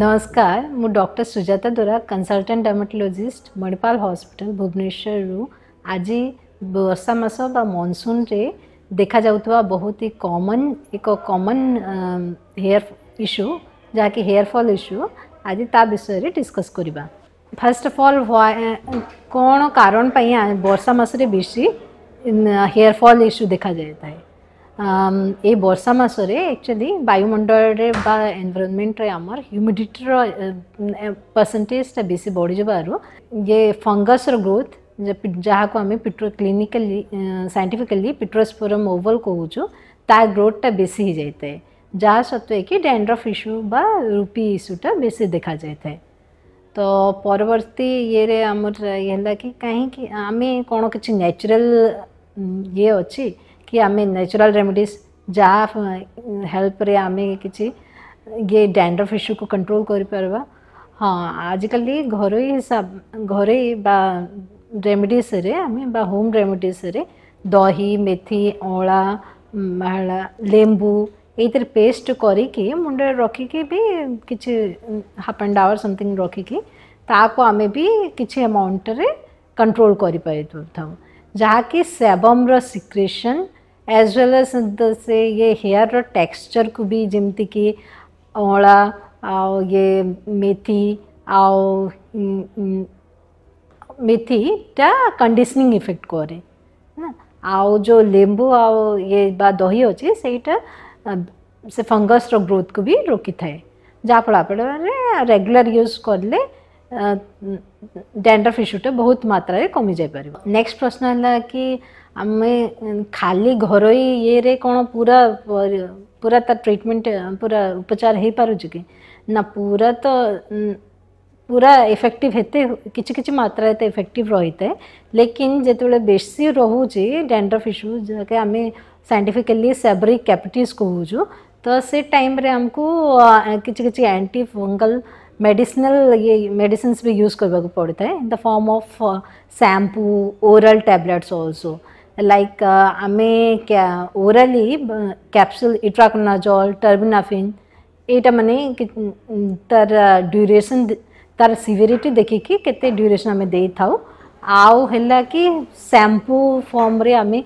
ନମସ୍କାର, ମୁଁ ଡକ୍ଟର ସୁଜାତା ଦୋରା, consultant ଡର୍ମାଟୋଲୋଜିଷ୍ଟ, Manipal hospital, ଭୁବନେଶ୍ୱରରୁ। ଆଜି ବର୍ଷା ମାସ ବା ମନସୁନରେ ଦେଖାଯାଉଥିବା ବହୁତ ହି କମନ୍, ଏକ କମନ୍ ହେୟାର ଇସ୍ୟୁ, ଯାହାକି ହେୟାର ଫଲ୍ ଇସ୍ୟୁ, ଆଜି ତା ବିଷୟରେ ଡିସ୍କସ୍ କରିବା। ଫାର୍ଷ୍ଟ ଅଫ୍ ଅଲ୍, କ'ଣ କାରଣ ପାଇଁ ବର୍ଷା ମାସରେ ବେଶୀ ହେୟାର ଫଲ୍ ଇସ୍ୟୁ ଦେଖାଯାଇଥାଏ? ଏଇ ବର୍ଷା ମାସରେ ଆକ୍ଚୁଆଲି ବାୟୁମଣ୍ଡଳରେ ବା ଏନଭାରନମେଣ୍ଟରେ ଆମର ହ୍ୟୁମିଡ଼ିଟିର ପରସେଣ୍ଟେଜଟା ବେଶୀ ବଢ଼ିଯିବାରୁ ଇଏ ଫଙ୍ଗସର ଗ୍ରୋଥ୍, ଯାହାକୁ ଆମେ ପିଟ୍ରୋ କ୍ଲିନିକାଲି, ସାଇଣ୍ଟିଫିକାଲି ପିଟ୍ରୋସ୍ପୋରମ୍ ଓଭଲ୍ କହୁଛୁ, ତା ଗ୍ରୋଥଟା ବେଶୀ ହେଇଯାଇଥାଏ, ଯାହା ସତ୍ତ୍ୱେ କି ଡ୍ୟାଣ୍ଡ୍ରଫ୍ ଇସ୍ୟୁ ବା ରୁପି ଇସ୍ୟୁଟା ବେଶୀ ଦେଖାଯାଇଥାଏ। ତ ପରବର୍ତ୍ତୀ ଇଏରେ ଆମର ଇଏ ହେଲା କି କାହିଁକି ଆମେ କ'ଣ କିଛି ନ୍ୟାଚୁରାଲ୍ ଇଏ ଅଛି କି ଆମେ ନ୍ୟାଚୁରାଲ୍ ରେମିଡ଼ିସ୍ ଯାହା ହେଲ୍ପରେ ଆମେ କିଛି ଇଏ ଡ୍ୟାଣ୍ଡ୍ରଫ୍ ଇସ୍ୟୁକୁ କଣ୍ଟ୍ରୋଲ୍ କରିପାରିବା? ହଁ, ଆଜିକାଲି ଘରୋଇ ହିସାବ, ଘରୋଇ ବା ରେମିଡ଼ିସ୍ରେ ଆମେ ବା ହୋମ୍ ରେମିଡ଼ିସ୍ରେ ଦହି, ମେଥି, ଅଁଳା, ହେଲା ଲେମ୍ବୁ, ଏଇଥିରେ ପେଷ୍ଟ କରିକି ମୁଣ୍ଡରେ ରଖିକି ବି କିଛି ହାଫ୍ ଆଣ୍ଡ ଆୱାର ସମଥିଙ୍ଗ ରଖିକି ତାକୁ ଆମେ ବି କିଛି ଆମାଉଣ୍ଟରେ କଣ୍ଟ୍ରୋଲ୍ କରିପାରିଥାଉ, ଯାହାକି ସେବମ୍ର ସିକ୍ରେସନ୍ ଆଜ୍ ୱେଲ୍ ଆଜ୍ ସେ ଇଏ ହେୟାରର ଟେକ୍ସଚର୍କୁ ବି, ଯେମିତିକି ଅଁଳା ଆଉ ଇଏ ମେଥି, ଆଉ ମେଥିଟା କଣ୍ଡିସନିଂ ଇଫେକ୍ଟ କରେ, ଆଉ ଯେଉଁ ଲେମ୍ବୁ ଆଉ ଇଏ ବା ଦହି ଅଛି, ସେଇଟା ସେ ଫଙ୍ଗସର ଗ୍ରୋଥକୁ ବି ରୋକିଥାଏ, ଯାହାଫଳରେ ରେଗୁଲାର ୟୁଜ୍ କଲେ ଡ୍ୟାଣ୍ଡ୍ରଫ୍ ଇସ୍ୟୁଟା ବହୁତ ମାତ୍ରାରେ କମିଯାଇପାରିବ। ନେକ୍ସଟ ପ୍ରଶ୍ନ ହେଲା କି ଆମେ ଖାଲି ଘରୋଇ ଇଏରେ କ'ଣ ପୁରା ପୁରା ତା ଟ୍ରିଟମେଣ୍ଟ, ପୁରା ଉପଚାର ହେଇପାରୁଛି କି ନା? ପୁରା ତ ପୁରା ଇଫେକ୍ଟିଭ ଏତେ, କିଛି କିଛି ମାତ୍ରାରେ ତ ଇଫେକ୍ଟିଭ ରହିଥାଏ, ଲେକିନ୍ ଯେତେବେଳେ ବେଶୀ ରହୁଛି ଡ୍ୟାଣ୍ଡ୍ରଫ୍ ଇସ୍ୟୁ, ଯାହାକି ଆମେ ସାଇଣ୍ଟିଫିକାଲି ସେବରିକ୍ କ୍ୟାପିଟିସ୍ କହୁଛୁ, ତ ସେ ଟାଇମ୍ରେ ଆମକୁ କିଛି କିଛି ଆଣ୍ଟି ଫଙ୍ଗଲ ମେଡ଼ିସିନାଲ ଇଏ ମେଡ଼ିସିନ୍ସ ବି ୟୁଜ୍ କରିବାକୁ ପଡ଼ିଥାଏ, in the form of shampoo, oral tablets also, like ଆମେ ଓରାଲି କ୍ୟାପସୁଲ୍ ଇଟ୍ରାକୋନାଜଲ୍, ଟର୍ବିନାଫିନ୍, ଏଇଟା ମାନେ ତାର ଡ୍ୟୁରେସନ୍, ତାର ସିଭିରିଟି ଦେଖିକି କେତେ ଡ୍ୟୁରେସନ୍ ଆମେ ଦେଇଥାଉ। ଆଉ ହେଲା କି ଶ୍ୟାମ୍ପୁ ଫର୍ମରେ ଆମେ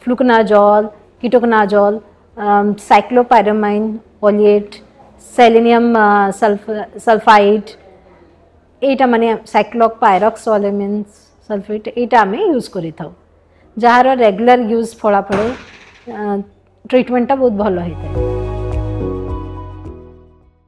ଫ୍ଲୁକନାଜଲ୍, କିଟୋକନାଜଲ୍, ସାଇକ୍ଲୋପାଇରାମାଇନ୍ ଅଲିଏଟ୍, ସେଲିନିୟମ୍ ସଲଫାଇଡ୍, ଏଇଟା ମାନେ ସାଇକ୍ଲୋପାଇରକ୍ସୋଲିମିନ୍ ସଲଫେଟ୍, ଏଇଟା ଆମେ ୟୁଜ୍ କରିଥାଉ, ଯାହାର ରେଗୁଲାର ୟୁଜ୍ ଫଳାଫଳ ଟ୍ରିଟମେଣ୍ଟଟା ବହୁତ ଭଲ ହେଇଥାଏ।